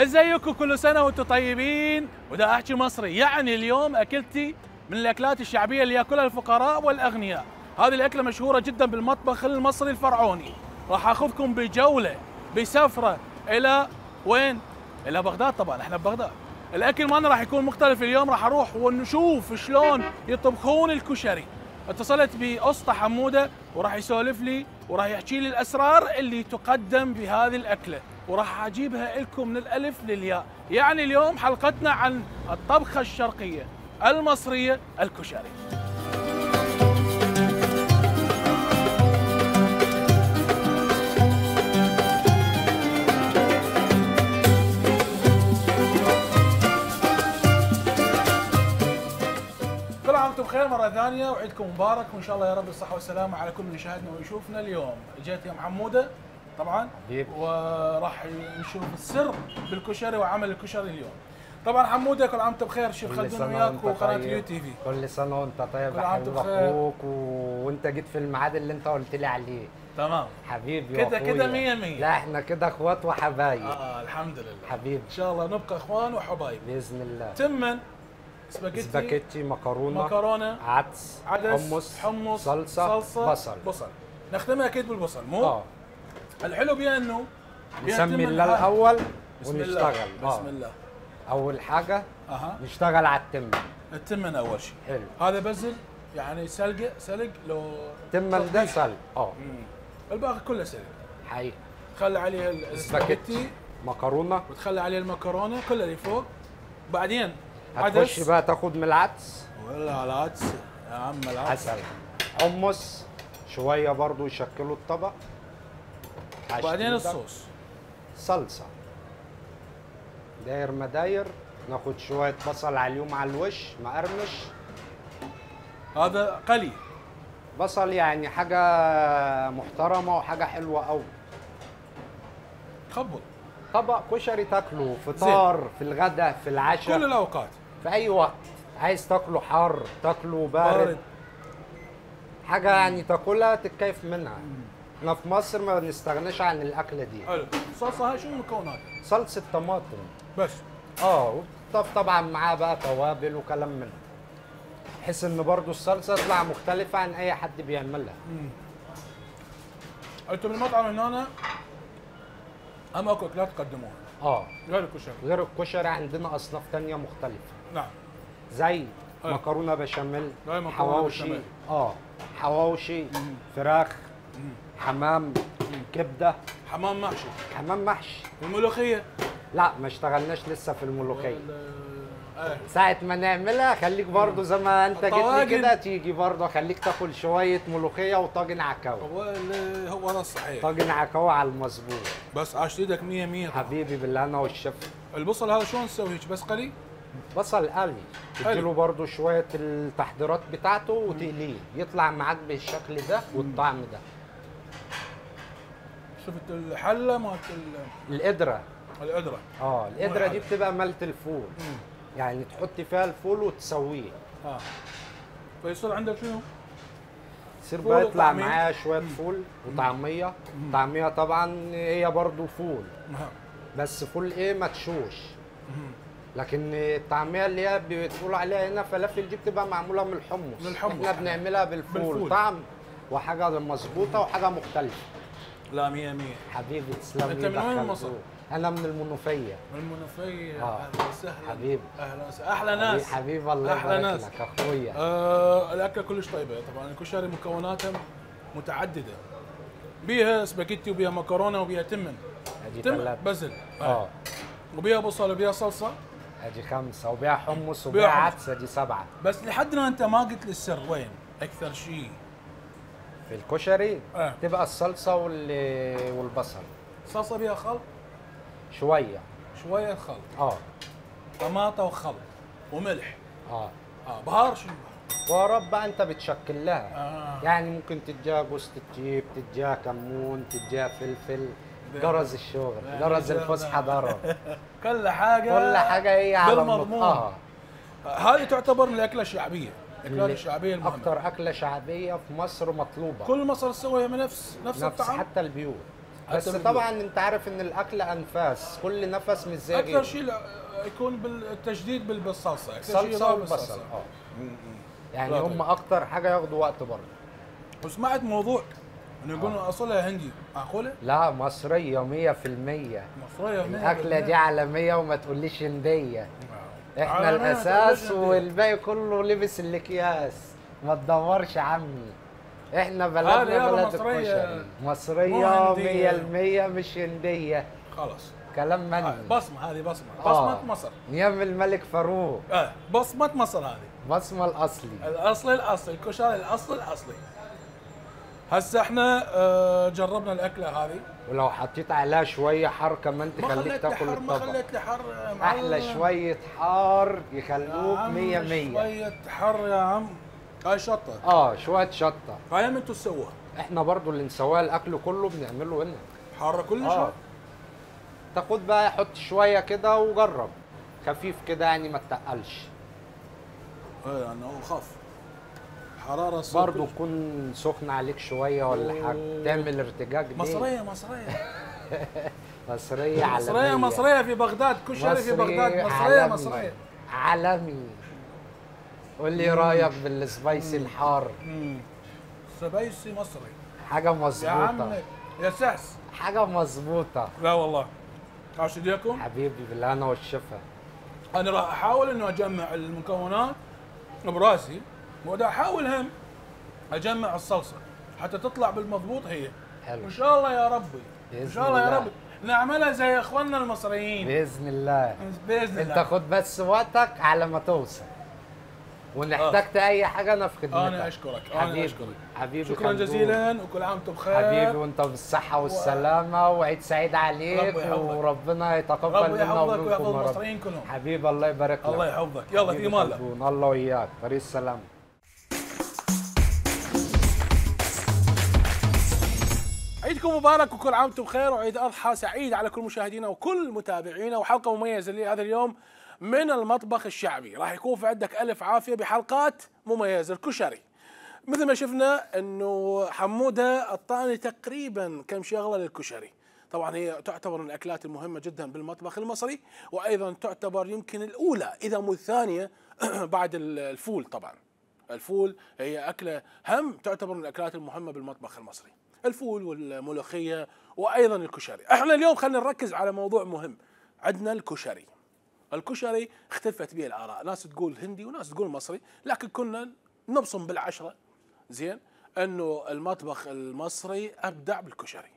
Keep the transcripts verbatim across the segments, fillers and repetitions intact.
ازيكم؟ كل سنه وانتم طيبين. ودا احكي مصري، يعني اليوم اكلتي من الاكلات الشعبيه اللي ياكلها الفقراء والاغنياء. هذه الاكله مشهوره جدا بالمطبخ المصري الفرعوني. راح اخذكم بجوله بسفره الى وين؟ الى بغداد. طبعا احنا ببغداد. الاكل مالنا راح يكون مختلف اليوم، راح اروح ونشوف شلون يطبخون الكشري. اتصلت باسطى حموده وراح يسولف لي وراح يحكي لي الاسرار اللي تقدم بهذه الاكله، وراح اجيبها لكم من الالف للياء. يعني اليوم حلقتنا عن الطبخه الشرقيه المصريه، الكشري. كل عام وانتم بخير مره ثانيه، وعيدكم مبارك، وان شاء الله يا رب الصحه والسلامه على كل اللي يشاهدنا ويشوفنا اليوم. جيت يا حموده طبعا حبيبي، وراح نشوف السر بالكشري وعمل الكشري اليوم. طبعا حموده كل عام وانت بخير، شيف خلدون وياك وقناه اليو تي في. كل سنه وانت طيب كل يا عام حبيب وانت بخير. اخوك، وانت جيت في الميعاد اللي انت قلت لي عليه. تمام حبيبي كده واخويا. كده مية مية. لا احنا كده اخوات وحبايب. اه الحمد لله. حبيبي ان شاء الله نبقى اخوان وحبايب باذن الله. تمن سباكيتي سباكيتي، مكرونه، مكرونه، عدس، عدس، حمص حمص، صلصه، صلصه، بصل. بصل. نختمها اكيد بالبصل مو؟ اه الحلو بيها انه بيها نسمي تمن الله حاجة. الاول بسم ونشتغل. الله. آه. بسم الله. اول حاجه اها نشتغل على التمن. التمن اول شيء. حلو. هذا بزل يعني سلقه سلق لو التمن ده سلق. اه مم. الباقي كله سلق. حقيقي. تخلي عليه السباكيتي، مكرونه، وتخلي عليه المكرونه كلها اللي فوق. بعدين هتخش بقى تاخد من العدس. ولا على العدس يا عم العدس. عسل، حمص شويه برضو يشكلوا الطبق. وبعدين الصوص، صلصه، داير مداير. ناخد شويه بصل عليهم على الوش مقرمش. هذا قلي بصل يعني حاجه محترمه وحاجه حلوه قوي. خبط طبق كشري تاكله فطار، في الغداء، في العشاء، كل الاوقات، في اي وقت. عايز تاكله حار، تاكله بارد, بارد. حاجه يعني تاكلها تتكيف منها. احنا في مصر ما بنستغناش عن الاكله دي. حلو. الصلصه هاي شنو مكوناتها؟ صلصه طماطم بس. اه وطف طبعا معاه بقى توابل وكلام من ده، بحيث ان برضو الصلصه تطلع مختلفه عن اي حد بيعملها. امم انتم بالمطعم هنا اهم اكو اكلات تقدموها اه غير الكشري؟ غير الكشري عندنا اصناف تانية مختلفه، نعم، زي أيوة. مكرونه بشاميل، زي مكرونة حواوشي بشاميل. اه حواوشي، مم. فراخ، مم. حمام، كبده، حمام محشي، حمام محشي. الملوخيه. لا ما اشتغلناش لسه في الملوخيه. وال- ايه ساعة ما نعملها خليك برضو زي ما انت جيت لي الطواجن. كده، تيجي برضو خليك تاكل شوية ملوخية وطاجن عكاوي. هو ال- هو ده الصحيح. طاجن عكاوي على المظبوط. بس عاشت ايدك مية مية. حبيبي بالهنا والشفا. البصل هذا شلون تسوي هيك بس قلي؟ بصل قلي، حلو. تديله برضو شوية التحضيرات بتاعته وتقليه، يطلع معاك بالشكل ده والطعم ده. شفت الحله مالت ال- القدرة. القدره. اه القدرة دي حلو. بتبقى ملت الفول، مم. يعني تحط فيها الفول وتسويه. اه فيصير عندك شنو؟ يصير فول بقى يطلع وطعمية. معاه شوية فول وطعمية. طعمية طبعا هي برضو فول، نعم. بس فول ايه مدشوش. مم. لكن الطعميه اللي هي بتقول عليها هنا فلافل دي بتبقى معموله من الحمص. من الحمص. احنا بنعملها بالفول, بالفول. طعم وحاجه مظبوطه وحاجه مختلفه. لا مية مية. حبيبي تسلم أنت ايدك من وين يا من مصر؟ خلدون. انا من المنوفيه. من المنوفيه. آه. اهلا وسهلا. حبيبي. اهلا وسهلا. احلى ناس. حبيبي, حبيبي الله أحلى يبارك ناس. لك اخويا. آه الاكله كلش طيبه طبعا. الكشري مكوناتها متعدده، بيها سباكيتي وبيها مكرونه وبيها تمن. ادي تمن ثلاث. بزل. اه وبيها بصل وبيها صلصه. ادي خمسه، وبيها حمص بيها وبيها حمص. عدس، ادي سبعه. بس لحدنا انت ما قلت لي السر وين اكثر شيء في الكشري آه. تبقى الصلصه وال- والبصل صلصه بيها خلط، شويه. شويه خلط، اه طماطه وخلط وملح. اه اه بهار شنو؟ بهارات بقى انت بتشكل لها. آه. يعني ممكن تديها جوز الطيب، تديها كمون، تديها فلفل. جرز الشغل، جرز الفسحه ضرب. كل حاجه كل حاجه هي على بالمضمون. نطقها. هذه تعتبر من الاكله الشعبيه، الاكلات اللي الشعبيه المهمه. اكتر اكله شعبيه في مصر مطلوبه. كل مصر تسويها من نفس نفس نفس الطعم. حتى البيوت. بس طبعا انت عارف ان الاكل انفاس، كل نفس مش زي اكثر شيء يكون بالتجديد بالصلصه، اكثر شيء صلصه والبصل. اه يعني هم اكثر حاجه ياخذوا وقت برضه. وسمعت موضوع انه يقولون اصلها هندي، معقوله؟ لا مصريه مية في المية. مصريه مية بالمية. الاكله دي عالميه وما تقوليش هنديه. احنا الاساس والباقي كله لبس الاكياس، ما تدورش عمي. احنا بلدنا بلد الكشري، مصريه مية بالمية مش هنديه. خلاص كلام مني. بصمه، هذه بصمه، بصمه آه. مصر. نيام الملك فاروق. اه بصمه مصر هذه. بصمه الاصلي. الاصلي الاصلي، الكشري الاصلي الاصلي. هسه احنا آه جربنا الاكله هذه، ولو حطيت عليها شويه حار كمان تخليك تاكل الطبق. ما خليت لي حر احلى شويه حار يخلوك مية مية. شويه حر يا عم. هاي شطه. اه شويه شطه. هاي انتوا تسووها. احنا برضو اللي نسويها، الاكل كله بنعمله هنا. حاره كلش. اه تاخد بقى حط شويه كده وجرب، خفيف كده يعني ما تتقلش. ايه انا اخاف حراره برضه تكون سخن عليك شويه ولا حاجه، تعمل ارتجاج. ليه؟ مصريه مصريه مصريه عالميه. مصريه مصريه في بغداد، كشري في بغداد مصريه مصريه عالمي. قول لي رايك بالسبايسي الحار. سبايسي مصري حاجه مظبوطه يا عم يا سحس، حاجه مظبوطه. لا والله عاش ايديكم حبيبي، بالهنا والشفا. انا راح احاول انه اجمع المكونات براسي، ودا احاول هم اجمع الصلصه حتى تطلع بالمضبوط هي. حلو. ان شاء الله يا ربي، ان شاء الله يا ربي نعملها زي اخواننا المصريين باذن الله. باذن الله. انت خد بس وقتك على ما توصل، وان احتجت اي حاجه انا في خدمتك. انا اشكرك، انا اشكرك حبيبي. شكرا خلدون. جزيلا، وكل عام وانتم بخير حبيبي، وانت بالصحه والسلامه، وعيد سعيد عليك، وربنا يتقبل منا ومنكم ويحفظك ويحفظ المصريين كلهم. حبيبي الله يبارك لك. الله يحفظك. يلا في امان الله. الله وياك، طريق السلام. عيدكم مبارك وكل عام وانتم بخير، وعيد اضحى سعيد على كل مشاهدينا وكل متابعينا، وحلقه مميزه لي هذا اليوم من المطبخ الشعبي. راح يكون في عندك الف عافيه بحلقات مميزه. الكشري مثل ما شفنا انه حموده اعطاني تقريبا كم شغله للكشري. طبعا هي تعتبر من الاكلات المهمه جدا بالمطبخ المصري، وايضا تعتبر يمكن الاولى اذا مو الثانيه بعد الفول. طبعا الفول هي اكله هم تعتبر من الاكلات المهمه بالمطبخ المصري، الفول والملوخيه وايضا الكشري. احنا اليوم خلينا نركز على موضوع مهم. عندنا الكشري. الكشري اختلفت به الاراء، ناس تقول هندي وناس تقول مصري، لكن كنا نبصم بالعشره زين انه المطبخ المصري ابدع بالكشري.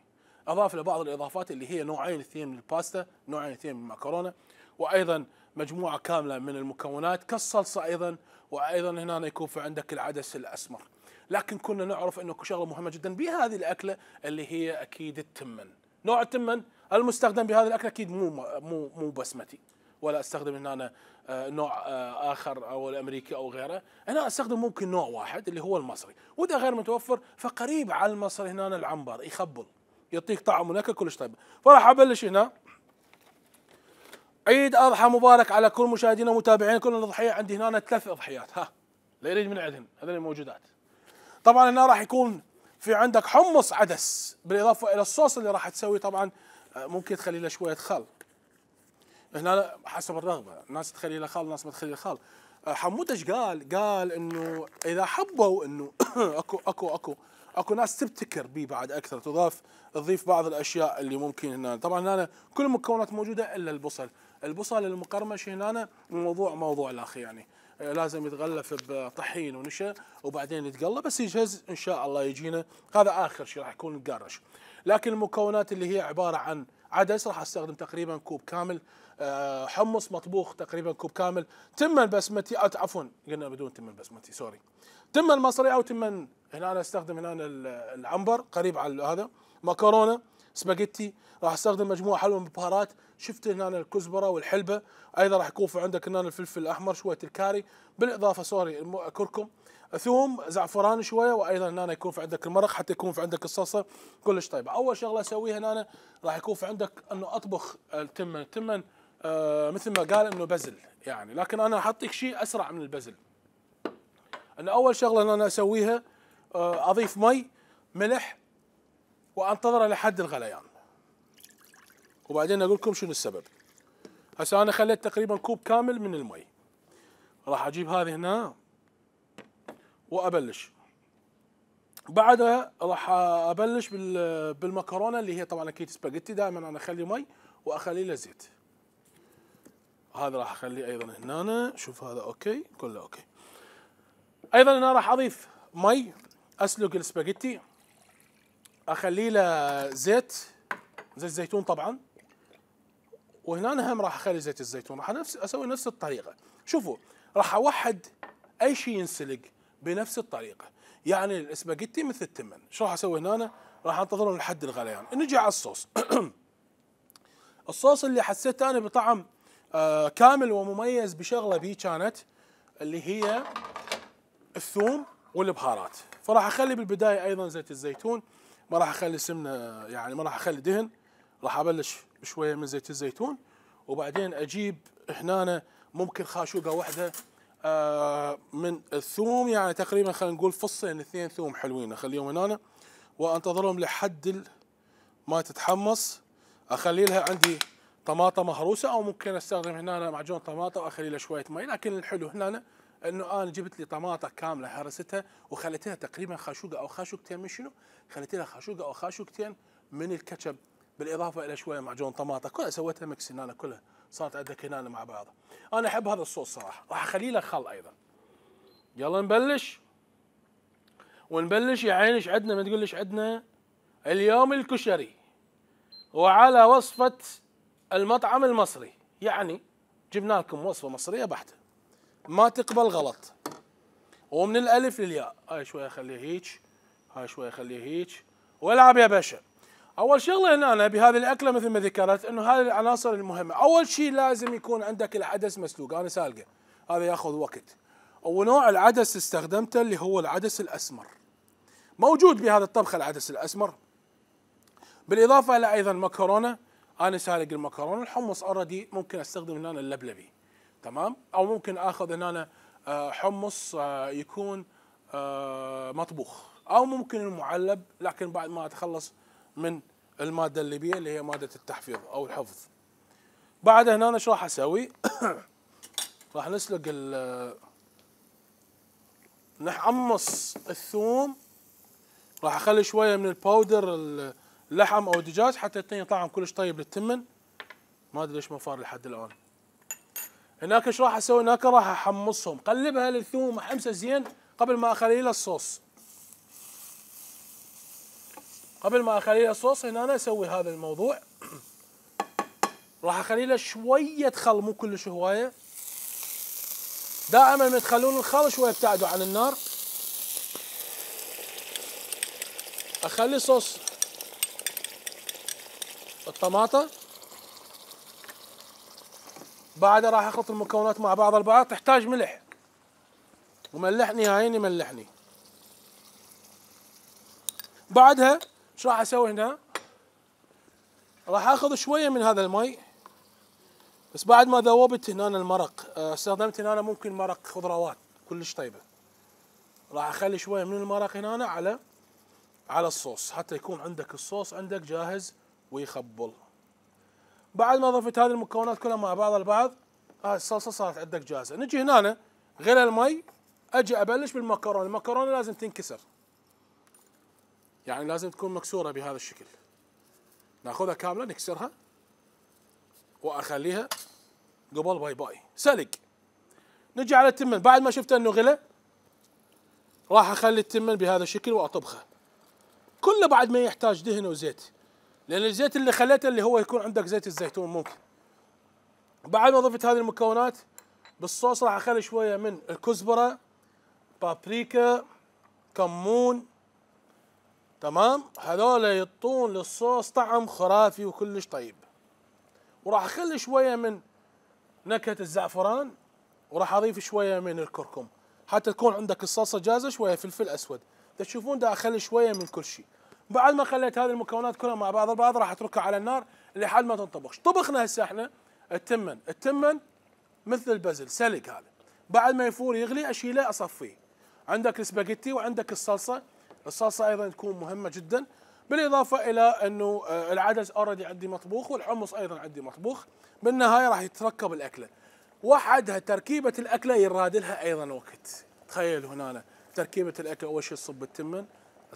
اضاف لبعض الاضافات اللي هي نوعين اثنين من الباستا، نوعين اثنين من المكرونه، وايضا مجموعه كامله من المكونات كالصلصه ايضا، وايضا هنا يكون في عندك العدس الاسمر. لكن كنا نعرف انه شغله مهمه جدا بهذه الاكله اللي هي اكيد التمن. نوع التمن المستخدم بهذه الاكله اكيد مو مو مو بسمتي، ولا استخدم هنا نوع اخر او الامريكي او غيره. انا استخدم ممكن نوع واحد اللي هو المصري، واذا غير متوفر فقريب على المصري هنا العنبر، يخبل يعطيك طعم ونكهه كلش طيبه. فراح ابلش هنا. عيد اضحى مبارك على كل مشاهدينا ومتابعينا. كل الاضحيه عندي هنا ثلاث اضحيات، ها لا يريد من عندهن هذول الموجودات. طبعا هنا راح يكون في عندك حمص عدس بالاضافه الى الصوص اللي راح تسوي. طبعا ممكن تخلي له شويه خل، هنا حسب الرغبه، ناس تخلي له خل ناس ما تخلي له خل. حموده ايش قال؟ قال انه اذا حبوا انه اكو اكو اكو اكو ناس تبتكر بيه بعد اكثر، تضاف تضيف بعض الاشياء اللي ممكن هنا. طبعا هنا كل المكونات موجوده الا البصل. البصل المقرمش هنا موضوع موضوع الاخي، يعني لازم يتغلف بطحين ونشا وبعدين يتقلى، بس يجهز ان شاء الله يجينا هذا اخر شيء راح يكون مقرش. لكن المكونات اللي هي عباره عن عدس راح استخدم تقريبا كوب كامل، حمص مطبوخ تقريبا كوب كامل، تمن بسمتي عفوا قلنا بدون تمن بسمتي سوري، تمن مصري او تمن هنا انا استخدم هنا العنبر قريب على هذا، مكرونه سباجيتي راح استخدم مجموعه حلوه من البهارات. شفت هنا الكزبره والحلبه، ايضا راح يكون في عندك هنا الفلفل الاحمر، شويه الكاري، بالاضافه سوري كركم، ثوم، زعفران شويه، وايضا هنا يكون في عندك المرق حتى يكون في عندك الصلصه كلش طيبه. اول شغله اسويها هنا راح يكون في عندك انه اطبخ التمن. التمن آه مثل ما قال انه بزل يعني، لكن انا احطك شيء اسرع من البزل. انه اول شغله ان انا اسويها آه اضيف مي ملح وانتظره لحد الغليان. وبعدين اقول لكم شنو السبب. هسه انا خليت تقريبا كوب كامل من المي. راح اجيب هذه هنا وابلش. بعدها راح ابلش بالمكرونه اللي هي طبعا اكيد سباجيتي. دائما انا اخلي مي واخلي له زيت. هذا راح اخليه ايضا هنا. شوف هذا اوكي، كله اوكي. ايضا هنا راح اضيف مي، اسلق السباجيتي، اخلي له زيت زيت زيتون طبعا. وهنا هم راح اخلي زيت الزيتون. راح نفس اسوي نفس الطريقه. شوفوا راح اوحد اي شيء ينسلق بنفس الطريقه. يعني الاسباجيتي مثل التمن. شو راح اسوي هنا؟ راح انتظرهم لحد الغليان. نجي على الصوص. الصوص اللي حسيت انا بطعم آه كامل ومميز بشغله بي كانت اللي هي الثوم والبهارات. فراح اخلي بالبدايه ايضا زيت الزيتون، ما راح اخلي سمنه، يعني ما راح اخلي دهن. راح ابلش بشويه من زيت الزيتون، وبعدين اجيب هنا ممكن خاشوقه واحده آه من الثوم، يعني تقريبا خلينا نقول فصين اثنين ثوم حلوين اخليهم هنا، وانتظرهم لحد ما تتحمص. اخلي لها عندي طماطم مهروسه، او ممكن استخدم هنا معجون طماطم واخلي له شويه مي. لكن الحلو هنا انه انا جبت لي طماطه كامله هرستها وخليتها تقريبا خاشوقه او خاشوقتين من شنو؟ خليت لها خاشوقه او خاشوقتين من الكاتشب، بالاضافه الى شويه معجون طماطم. كلها سويتها ميكس هنا، كلها صارت عندك هنا مع بعض. انا احب هذا الصوص صراحه. راح اخلي له خل ايضا. يلا نبلش. ونبلش يا عيني. ايش عندنا؟ ما تقول ايش عندنا؟ اليوم الكشري، وعلى وصفه المطعم المصري. يعني جبنا لكم وصفه مصريه بحته ما تقبل غلط، ومن الالف للياء. هاي شويه اخليه هيك، هاي شويه اخليه هيك، والعب يا باشا. اول شغله هنا أنا بهذه الاكله مثل ما ذكرت انه هذه العناصر المهمه. اول شيء لازم يكون عندك العدس مسلوق. انا سالقه، هذا ياخذ وقت. ونوع العدس استخدمته اللي هو العدس الاسمر. موجود بهذا الطبخه العدس الاسمر. بالاضافه الى ايضا مكرونه. انا سالق المكرونه. الحمص اوريدي ممكن استخدم هنا اللبلبي، تمام، او ممكن اخذ هنا حمص يكون مطبوخ، او ممكن المعلب، لكن بعد ما اتخلص من الماده الليبيه اللي هي ماده التحفيظ او الحفظ. بعد هنا ايش راح اسوي؟ راح نسلق ال نحمص الثوم. راح اخلي شويه من الباودر اللحم او الدجاج حتى يعطيني طعم كلش طيب للتمن. ما ادري ليش ما فار لحد الان. هناك ايش راح اسوي؟ هناك راح احمصهم، قلبها للثوم احمسه زين قبل ما اخلي له الصوص. قبل ما اخلي له الصوص هنا أنا اسوي هذا الموضوع. راح اخلي له شويه خل، مو كلش هوايه. دائما ما تخلون الخل شويه ابتعدوا عن النار. اخلي صوص الطماطة. بعدها راح اخلط المكونات مع بعض البعض. تحتاج ملح، وملحني هايني ملحني. بعدها ايش راح اسوي هنا؟ راح اخذ شويه من هذا المي، بس بعد ما ذوبت هنا المرق. استخدمت هنا ممكن مرق خضروات كلش طيبه. راح اخلي شويه من المرق هنا على على الصوص حتى يكون عندك الصوص عندك جاهز ويخبل. بعد ما ضفت هذه المكونات كلها مع بعض البعض، هاي الصلصه صارت عندك جاهزه. نجي هنا غير المي اجي ابلش بالمكرونه. المكرونه لازم تنكسر، يعني لازم تكون مكسوره بهذا الشكل. ناخذها كامله نكسرها واخليها قبل باي باي سلق. نجي على التمن. بعد ما شفت انه غلى راح اخلي التمن بهذا الشكل واطبخه كله بعد ما يحتاج دهن وزيت، لان الزيت اللي خليته اللي هو يكون عندك زيت الزيتون ممكن. بعد ما ضفت هذه المكونات بالصوص راح اخلي شويه من الكزبره، بابريكا، كمون، تمام. هذول يعطون للصوص طعم خرافي وكلش طيب. وراح اخلي شويه من نكهه الزعفران، وراح اضيف شويه من الكركم حتى تكون عندك الصلصه جاهزه. شويه فلفل اسود، تشوفون دا اخلي شويه من كل شيء. بعد ما خليت هذه المكونات كلها مع بعض البعض راح اتركها على النار لحد ما تنطبخ. طبخنا هسه احنا التمن. التمن مثل البزل سلق هذا. بعد ما يفور يغلي اشيله اصفيه. عندك السباجيتي وعندك الصلصه. الصلصه ايضا تكون مهمه جدا. بالاضافه الى انه العدس اوريدي عندي مطبوخ والحمص ايضا عندي مطبوخ. بالنهايه راح يتركب الاكله. وحدها تركيبه الاكله يراد لها ايضا وقت. تخيل هنا تركيبه الاكله، اول شيء تصب التمن،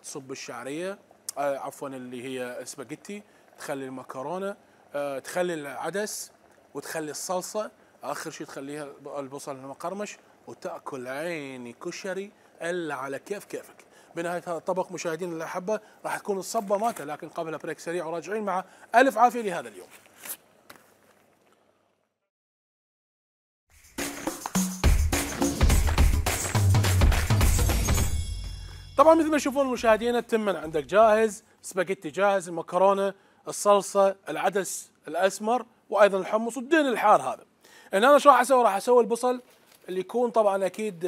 تصب الشعريه، آه عفوا اللي هي السباجيتي، تخلي المكرونه، آه تخلي العدس، وتخلي الصلصه، اخر شيء تخليها البصل المقرمش، وتاكل عيني كشري الا على كيف كيفك. بنهايه هذا الطبق مشاهدينا الاحبه راح تكون الصبه مالته، لكن قبلها بريك سريع وراجعين مع الف عافيه لهذا اليوم. طبعا مثل ما تشوفون مشاهدينا التمن عندك جاهز، سباجيتي جاهز، المكرونه، الصلصه، العدس الاسمر، وايضا الحمص والدهن الحار هذا. هنا انا شو راح اسوي؟ راح اسوي البصل اللي يكون طبعا اكيد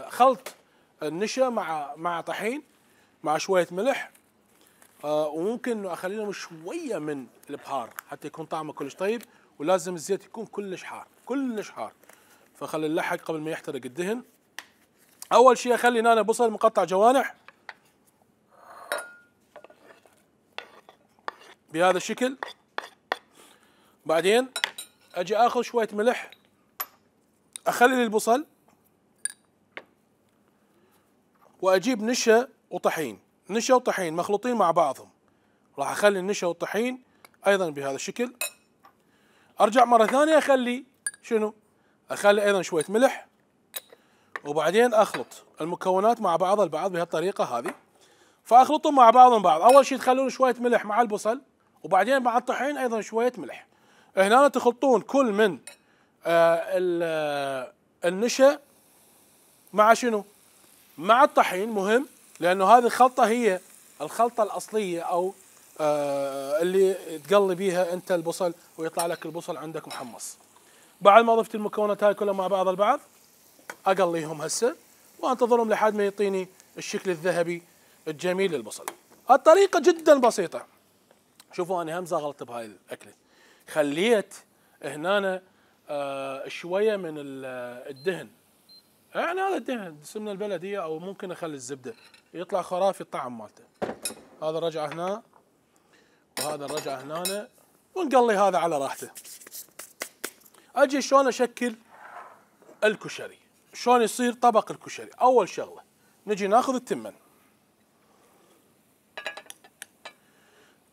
خلط النشا مع مع طحين مع شويه ملح، وممكن انه اخلي لهم شويه من البهار حتى يكون طعمه كلش طيب، ولازم الزيت يكون كلش حار كلش حار. فخلي نلحق قبل ما يحترق الدهن. اول شيء اخلي هنا بصل مقطع جوانح بهذا الشكل. بعدين اجي اخذ شويه ملح، اخلي البصل، واجيب نشا وطحين، نشا وطحين مخلوطين مع بعضهم. راح اخلي النشا والطحين ايضا بهذا الشكل. ارجع مره ثانيه اخلي شنو؟ اخلي ايضا شويه ملح، وبعدين اخلط المكونات مع بعضها البعض بهالطريقه هذه. فاخلطهم مع بعضهم بعض. اول شيء تخلون شويه ملح مع البصل، وبعدين مع الطحين ايضا شويه ملح. هنا تخلطون كل من آه النشا مع شنو؟ مع الطحين. مهم لانه هذه الخلطه هي الخلطه الاصليه، او آه اللي تقلي بيها انت البصل ويطلع لك البصل عندك محمص. بعد ما ضفت المكونات هاي كلها مع بعض البعض، اقليهم هسه وانتظرهم لحد ما يعطيني الشكل الذهبي الجميل للبصل. الطريقه جدا بسيطه. شوفوا انا هم زغلت بهاي الاكله، خليت هنا آه شويه من الدهن، يعني هذا الدهن سمنه البلديه، او ممكن اخلي الزبده، يطلع خرافي الطعم مالته. هذا الرجعه هنا وهذا الرجعه هنا، ونقلي هذا على راحته. اجي شلون اشكل الكشري، شلون يصير طبق الكشري. اول شغله نجي ناخذ التمن،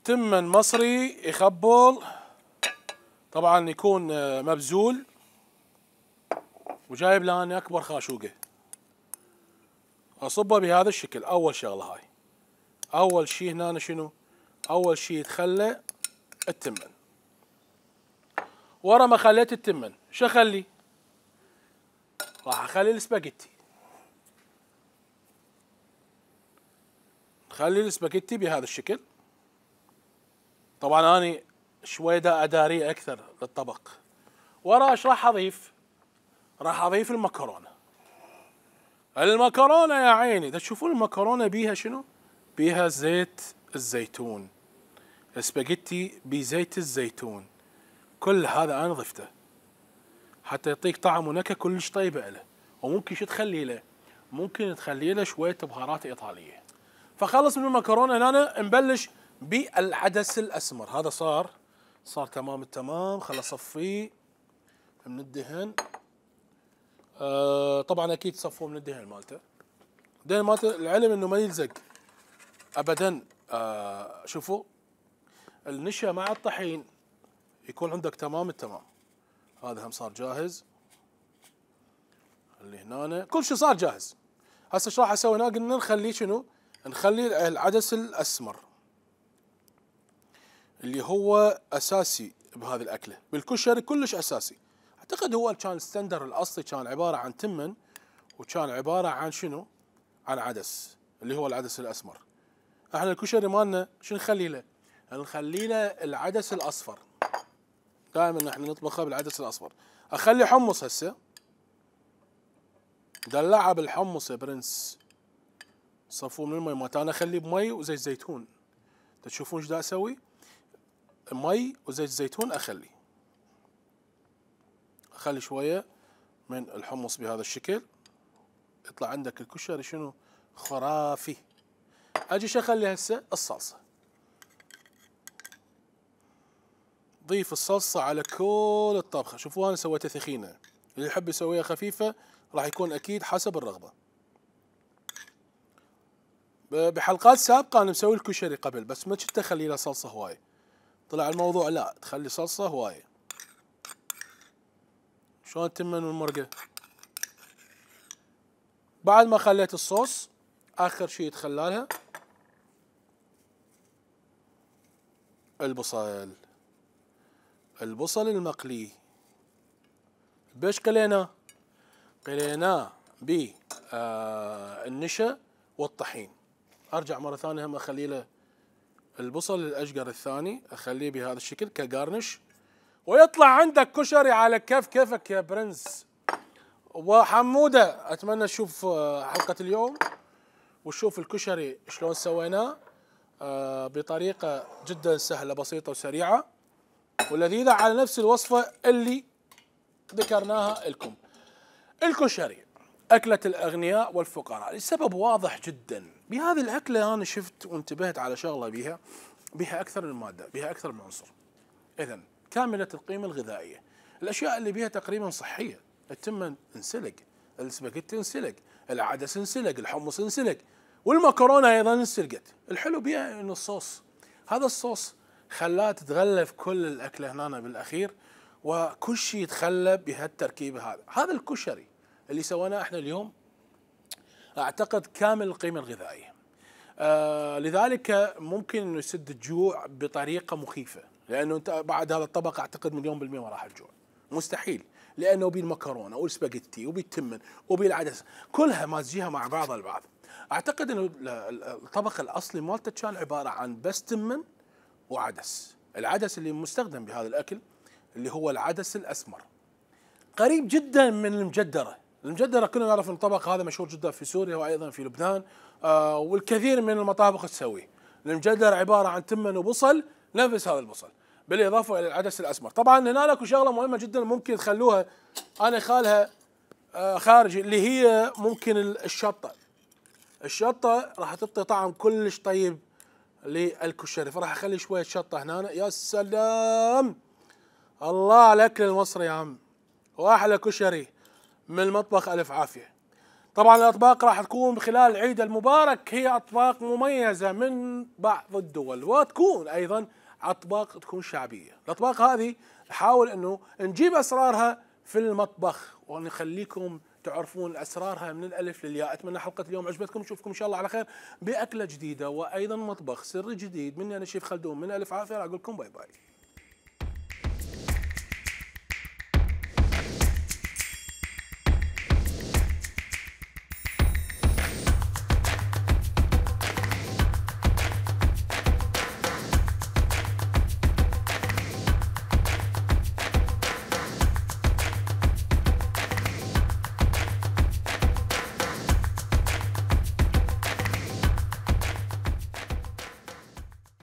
تمن مصري يخبل، طبعا يكون مبزول وجايب لاني اكبر خاشوقه. اصبه بهذا الشكل. اول شغله هاي، اول شيء هنا شنو؟ اول شيء يتخلى التمن. ورا ما خليت التمن شو اخلي؟ راح اخلي السباجيتي. نخلي السباجيتي بهذا الشكل. طبعا اني شوي دا اداريه اكثر للطبق. ورا ايش راح اضيف؟ راح اضيف المكرونه. المكرونه يا عيني، تشوفون المكرونه بيها شنو؟ بيها زيت الزيتون. السباجيتي بزيت الزيتون. كل هذا انا ضفته حتى يعطيك طعم ونكهه كلش طيبه له. وممكن شو تخلي له؟ ممكن تخلي له شويه بهارات ايطاليه. فخلص من المكرونه هنا نبلش بالعدس الاسمر. هذا صار صار تمام التمام. خل اصفيه من الدهن. آه طبعا اكيد تصفوه من الدهن مالته. الدهن مالته العلم انه ما يلزق ابدا. آه شوفوا النشا مع الطحين يكون عندك تمام التمام. هذا هم صار جاهز. اللي هنا كل شيء صار جاهز. هسه ايش راح اسوي هنا؟ قلنا نخليه شنو؟ نخلي العدس الاسمر اللي هو اساسي بهذه الاكله، بالكشري كلش اساسي. اعتقد هو كان الستندر الاصلي كان عباره عن تمن، وكان عباره عن شنو؟ عن عدس اللي هو العدس الاسمر. احنا الكشري مالنا شو نخلي له؟ نخلي له العدس الاصفر. دائما احنا نطبخه بالعدس الاصفر. اخلي حمص هسه، دلعها بالحمص يا برنس. صفوه من المي مالته. انا اخليه بمي وزيت زيتون. تشوفون ايش دا اسوي؟ مي وزيت زيتون اخلي. اخلي شويه من الحمص بهذا الشكل. يطلع عندك الكشري شنو؟ خرافي. اجي شو اخلي هسه؟ الصلصه. ضيف الصلصه على كل الطبخه. شوفوا انا سويتها ثخينه، اللي يحب يسويها خفيفه راح يكون اكيد حسب الرغبه. بحلقات سابقه انا مسوي الكشري قبل، بس ما كنت اخلي له صلصه هوايه. طلع الموضوع لا تخلي صلصه هوايه. شلون تمن والمرقه. بعد ما خليت الصوص اخر شيء يتخلالها البصل. البصل المقلي. بيش قليناه؟ قليناه بالنشا والطحين. ارجع مره ثانيه هم اخلي له البصل الاشقر الثاني، اخليه بهذا الشكل كجارنش، ويطلع عندك كشري على كيف كيفك يا برنس. وحموده اتمنى تشوف حلقه اليوم وتشوف الكشري شلون سويناه بطريقه جدا سهله بسيطه وسريعه ولذيذه على نفس الوصفه اللي ذكرناها لكم. الكشري أكلة الأغنياء والفقراء لسبب واضح جدا. بهذه الأكلة أنا شفت وانتبهت على شغلة بها، بها أكثر من مادة، بها أكثر من عنصر. إذن كاملة القيمة الغذائية. الأشياء اللي بها تقريبا صحية. التمن انسلق، السباجيتي انسلق، العدس انسلق، الحمص انسلق، والمكرونة أيضا انسلقت. الحلو بها إنه الصوص، هذا الصوص خلاه تتغلف كل الأكلة هنا بالأخير، وكل شيء يتخلى بهالتركيبة هذا. هذا الكشري اللي سويناه احنا اليوم اعتقد كامل القيمة الغذائية. آه لذلك ممكن انه يسد الجوع بطريقة مخيفة، لانه انت بعد هذا الطبق اعتقد مليون بالمية ما راح الجوع. مستحيل، لانه بالمكرونة والسباجيتي وبالتمن وبالعدس كلها مازجيها مع بعض البعض. اعتقد انه الطبق الاصلي مالته كان عبارة عن بس تمن وعدس. العدس اللي مستخدم بهذا الاكل اللي هو العدس الاسمر، قريب جدا من المجدرة. المجدرة كلنا نعرف ان الطبق هذا مشهور جدا في سوريا وايضا في لبنان، آه والكثير من المطابخ تسويه. المجدرة عبارة عن تمن وبصل، نفس هذا البصل بالاضافة الى العدس الاسمر. طبعا هنا لكم شغلة مهمة جدا ممكن تخلوها انا خالها آه خارج، اللي هي ممكن الشطة. الشطة راح تعطي طعم كلش طيب للكشري، فراح اخلي شوية شطة هنا. يا سلام، الله على الاكل المصري يا عم، واحلى كشري من المطبخ الف عافيه. طبعا الاطباق راح تكون خلال العيد المبارك هي اطباق مميزه من بعض الدول، وتكون ايضا اطباق تكون شعبيه. الاطباق هذه نحاول انه نجيب اسرارها في المطبخ ونخليكم تعرفون اسرارها من الالف للياء. اتمنى حلقه اليوم عجبتكم، نشوفكم ان شاء الله على خير باكله جديده وايضا مطبخ سري جديد. مني انا شيف خلدون من الف عافيه، اقول لكم باي باي.